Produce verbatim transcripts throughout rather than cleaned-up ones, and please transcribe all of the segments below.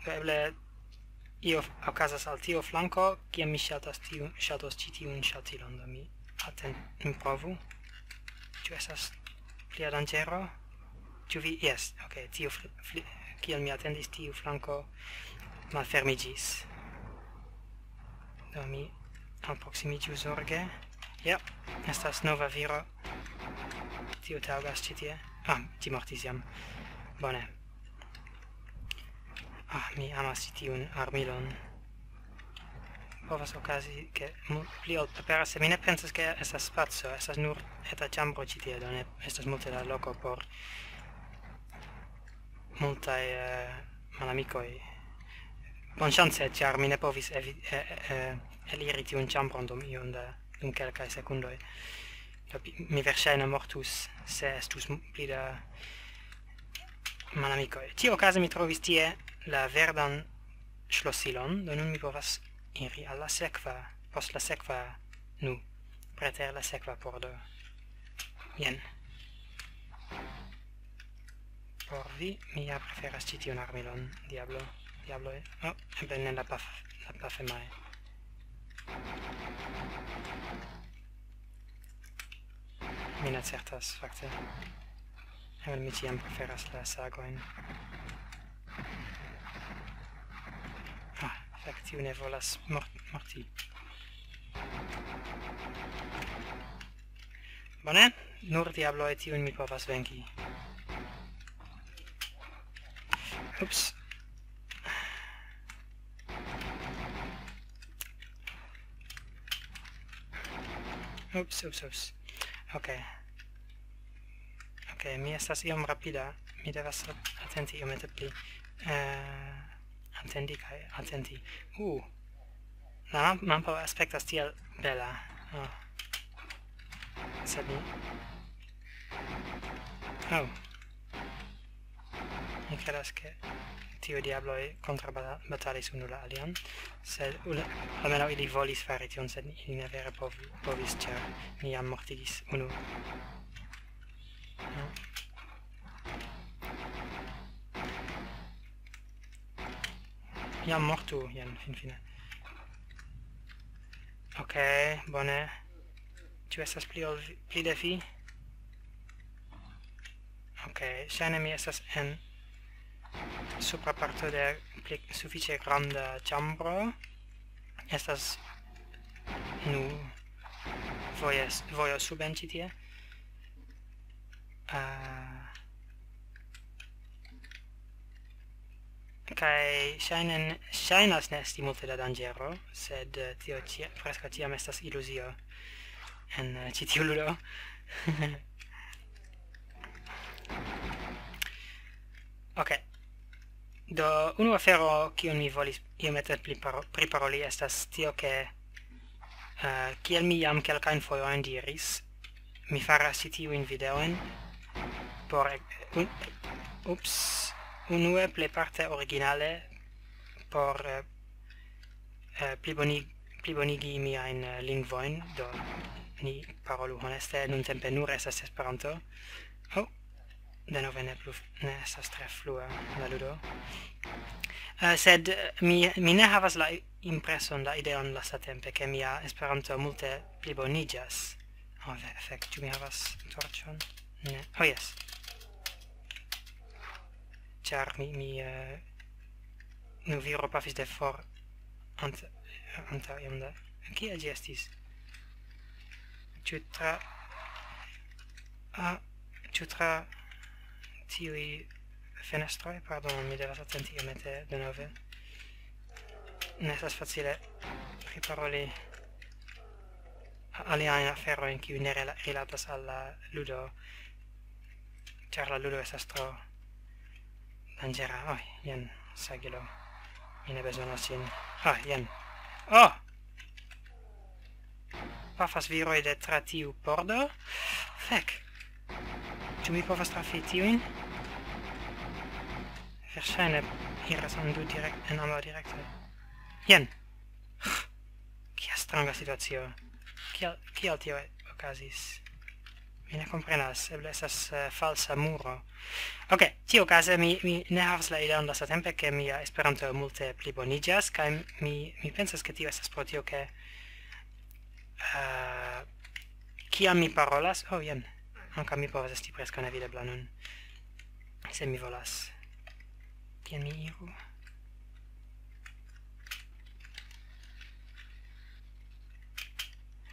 Do eble io f-, okazas al tiu flanko, kiam mi ŝatas tiu, ŝatos ĉi tiun ŝaltilon, do mi aten-, mi provu. Ĉu estas plia danĝero? Ĉu vi? Jes, ok, tiu fl-, fli-, kiel mi atendis, tiu flanko malfermiĝis. Do mi alproksimiĝu zorge. Ja, estas nova viro. Tiu taŭgas ĉi tie. Ah, ĝi mortis jam. Bone. Ah, mi amas ĉi tiun armilon. Povas okazi, ke mu-, pli ol aperas, se mi ne pensas, ke estas spaco, estas nur eta ĉambro ĉi tie, do ne estas multe da loko por multaj, eh, malamikoj. Bonŝance, ĉar mi ne povis evi-, eh, eh, eliri tiun ĉambron dum iom da, dum kelkaj sekundoj. Do pi-, mi verŝajne mortus, se estus m-, pli da malamikoj. Ĉiuokaze mi trovis tie la verdan ŝlosilon, do nun mi povas iri al la sekva, post la sekva, nu, preter la sekva pordo. Jen. Por vi, mi ja preferas ĉi tiun armilon, diablo, diabloj. Oh, eble ne la paf-, la pafemaj. Mi ne certas, fakte. Eble mi ĉiam preferas la sagojn. Ah, fek, tiu ne volas mor-, morti. Bone, nur diabloj tiujn mi povas venki. Ups. Ups, ups, ups. Ok. Ok, mi estas iom rapida. Mi devas atenti iomete pli. Eh, atendi kaj atenti. Uh, la mam-, mampo aspektas tiel bela. Oh. Sed mi... Oh. Mi credas, ke tiuj diabloj kontrabatalis unu la alian, sed unu, almenaŭ ili volis fari tion, sed ili ne vere pov-, povis, ĉar mi jam mortigis unu. No. Jam mortu, jen, finfine. Ok, bone. Ĉu estas pli ol vi, pli de vi? Ok, ŝajne mi estas en supra parto de pli sufiĉe granda ĉambro. Estas, nu, vojes-, vojo suben ĉi tie. Ah, kaj ŝajnen-, ŝajnas ne esti multe da danĝero, sed, eh, tio ĉia-, preskaŭ ĉiam estas iluzio en, eh, ĉi tiu ludo. Ok. Do, unu afero, kiun mi volis iomete pli paro-, priparoli, estas tio, ke, eh, kiel mi jam kelkajn fojojn diris, mi faras ĉi tiujn videojn por e-, un-, ups, unue plejparte originale por, eh, eh, pliboni-, plibonigi miajn, eh, lingvojn, do ni parolu honeste, nuntempe nur estas Esperanto. Oh, denove ne plu f-, ne estas tre flua la ludo. Eh, sed, eh, mi, mi ne havas la i-, impreson, la ideon lastatempe, ke mia Esperanto multe pliboniĝas. Oh, ve-, fek, ĉu mi havas torĉon? Ne. Oh, jes. Ĉar mi, mi, eh, nu viro pafis de for ant-, antaŭ iom da. Kie ĝi estis? Ĉu tra-, ah, ĉu tra tiuj fenestroj? Pardonon, mi devas atenti iomete denove. Ne estas facile priparoli a-, aliajn aferojn, kiuj ne rela-, rilatas al la ludo, ĉar la ludo estas tro danĝera. Oh, jen, sagilo. Mi ne bezonas ĝin. Ah, jen. Oh! Pafas viroj de tra tiu pordo. Fek. Ĉu mi povas trafi tiujn? Verŝajne iras en du direkt-, en ambaŭ direktoj. Jen. Kia stranga situacio. Kial, kial tio okazis? Mi ne komprenas, eble estas, eh, falsa muro. Ok, tiukaze mi, mi ne havas la ideon lastatempe, ke mia Esperanto multe pliboniĝas, kaj mi, mi pensas, ke tio estas pro tio, ke, eh, kiam mi parolas, oh, jen, ankaŭ mi povas esti preskaŭ nevidebla nun, se mi volas. Kien mi iru?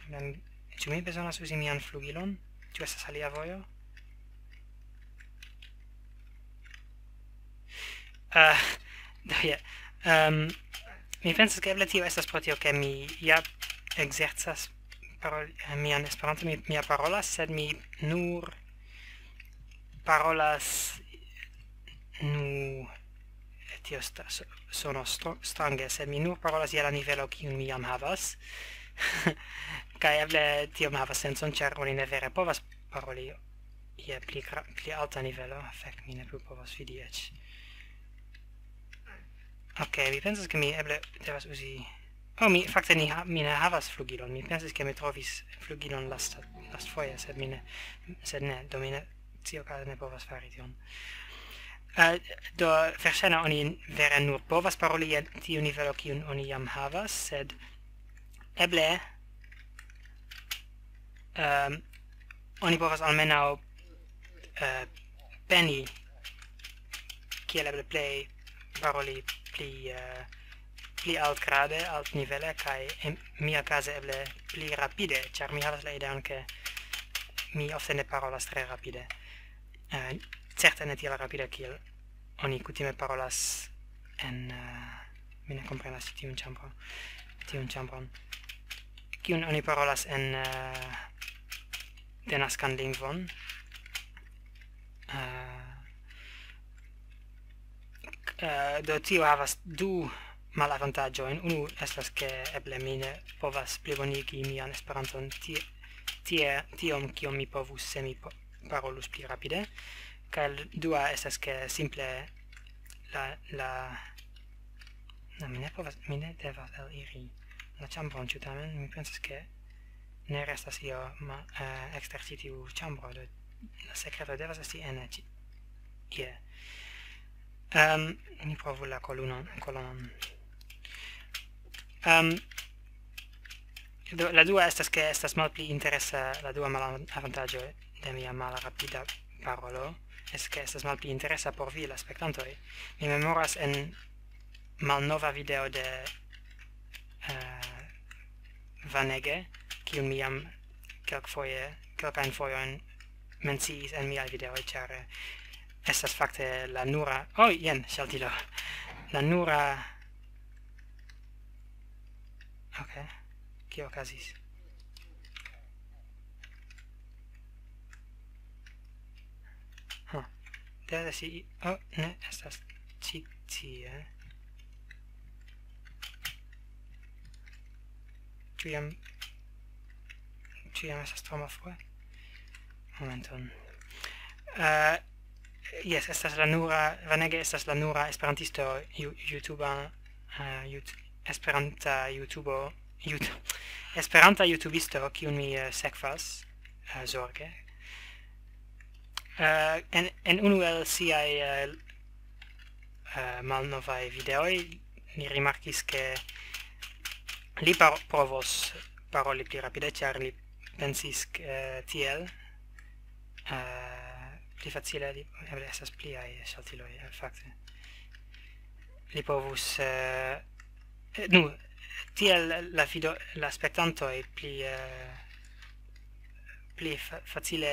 Mem, ĉu mi bezonas uzi mian flugilon? Ĉu estas alia vojo? Uh, do, yeah. Um, mi pensas, ke eble tio estas pro tio, ke mi ja ekzercas parol-, eh, mian Esperanto, mi, mi ja parolas, sed mi nur parolas, nu, tio sta-, so-, sono stro-, strange, sed mi nur parolas je la nivelo, kiun mi jam havas. Kaj eble tiom havas sencon, ĉar oni ne vere povas paroli je pli gra-, pli alta nivelo. Fek, mi ne plu povas vidi eĉ. Ok, mi pensas, ke mi eble devas uzi... Oh, mi fakte ni ha-, mi ne havas flugilon. Mi pensis, ke mi trovis flugilon lasta-, lastfoje, sed mi ne, sed ne, do mi ne, tiukaze ne povas fari tion. Eh, do, verŝajne oni vere nur povas paroli je tiu nivelo, kiun oni jam havas, sed eble, ehm, oni povas almenaŭ, eh, peni, kiel eble plej paroli pli, eh, pli altgrade, altnivele, kaj en mia kaze eble pli rapide, ĉar mi havas la ideon, ke mi ofte ne parolas tre rapide. Eh, certe ne tiel rapide, kiel oni kutime parolas en, eh, mi ne komprenas tiun ĉambron, tiun ĉambron. Kiun oni parolas en, eh, denaskan lingvon? Eh, eh, do tio havas du malavantaĝojn. Unu estas, ke eble mi ne povas plibonigi mian Esperanton tie, tie, tiom, kiom mi povus, se mi po-, parolus pli rapide. Kaj l-, dua estas, ke simple la, la, no, mi ne povas, mi ne devas eliri la ĉambron, ĉu tamen? Mi pensas, ke ne restas io ma-, eh, ekster ĉi tiu ĉambro, do la sekreto devas esti ene ĉi, ie. Ehm, mi provu la kolunon, kolonon. Ehm, do, la dua estas, ke estas malpli interesa, la dua malavantaĝo de mia malrapida parolo, estas, ke estas malpli interesa por vi, la spektantoj. Mi memoras en malnova video de, eh, Vanege, kiun mi jam kelkfoje, kelkajn fojojn menciis en miaj videoj, ĉar, eh, estas fakte la nura, oh, jen, ŝaltilo. La nura, ok, kio okazis? Huh. Devas esti, oh, ne, estas ĉi tie. Ĉu jam, ĉu jam estas tro malfrue? Momenton. Eh, jes, estas la nura, Vanege estas la nura esperantisto ju-, YouTuba, eh, Yout-, esperanta YouTubo, Yout-, esperanta YouTubisto, kiun mi, eh, sekvas, eh, zorge. Eh, en, en unu el siaj, eh, eh, malnovaj videoj, mi rimarkis, ke li par-, provos paroli pli rapide, ĉar li pensis, ke, eh, tiel, eh, pli facile, li, eble estas pliaj ŝaltiloj, eh, fakte. Li povus, eh, eh, nu, tiel la vido-, la spektantoj pli, eh, pli fa-, facile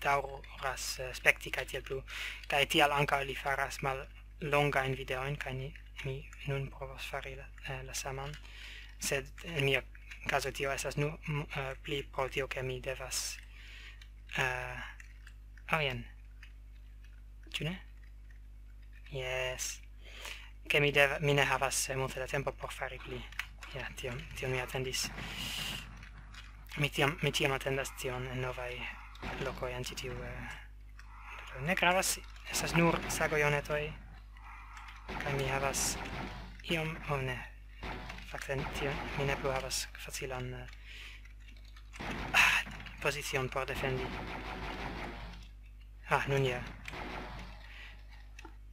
daŭras, eh, spekti kaj tiel plu. Kaj tial ankaŭ li faras mallongajn videojn, kaj ni, mi nun provos fari la, eh, la saman. Sed en mia kazo tio estas nu-, m-, eh, pli pro tio, ke mi devas, eh, oh, jen. Ĉu ne? Jes. Ke mi dev-, mi ne havas, eh, multe da tempo por fari pli. Ja, tion, tion mi atendis. Mi tiam, mi tiam atendas tion en novaj lokoj en ĉi tiu, eh, ne gravas, estas nur sagojonetoj. Kaj mi havas iom, oh, ne. Fakte, tion, mi ne plu havas facilan, eh, ah, pozicion por defendi. Ah, nun ja.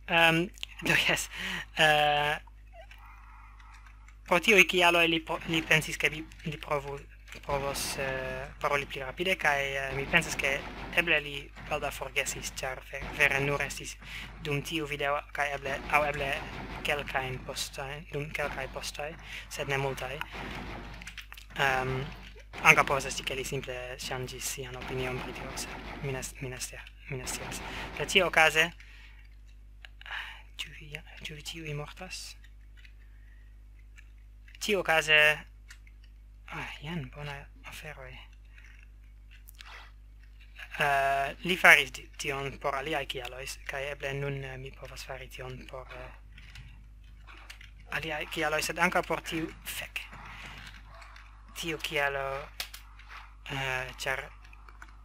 Um, do jes. Uh, pro tiuj kialoj li, po, li pensis, ke li, li provu, provos uh, paroli pli rapide, kaj uh, mi pensas, ke eble li baldaŭ forgesis, ĉar vere nur estis dum tiu video, kaj eble, aŭ eble kelkajn postojn, dum kelkaj postoj, sed ne multaj. Um, ankaŭ povas esti, ke li simple ŝanĝis sian opinion pri tio, sed mi ne scias. Ĉi okaze, ĉu vi tiuj mortas? Ĉi okaze, ah, jen bona aferoj. Uh, li faris tion por aliaj kialoj, kaj eble nun uh, mi povas fari tion por uh, aliaj kialoj, sed ankaŭ por tiu fek. Tiu kialo, uh, ĉar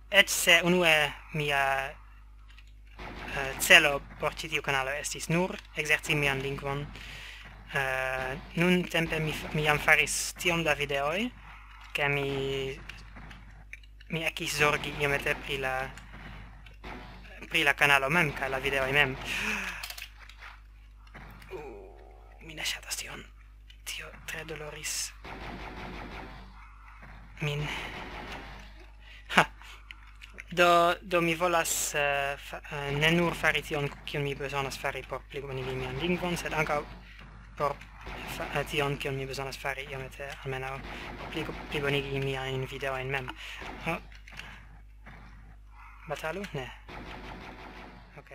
eĉ se unue mia uh, celo por ĉi tiu kanalo estis nur ekzerci mian lingvon, uh, nuntempe mi, mi jam faris tiom da videoj, ke mi mi ekis zorgi iomete pri la pri la kanalo mem kaj la videoj mem. Uh, mi ne ŝatas tion. Tio tre doloris min. Ha. Do, do mi volas uh, fa, uh, ne nur fari tion, kion mi bezonas fari por plibonigi mian lingvon, sed ankaŭ por fa, uh, tion, kion mi bezonas fari iomete almenaŭ por pli, plibonigi miajn videojn mem. Oh. Batalu? Ne. Ok.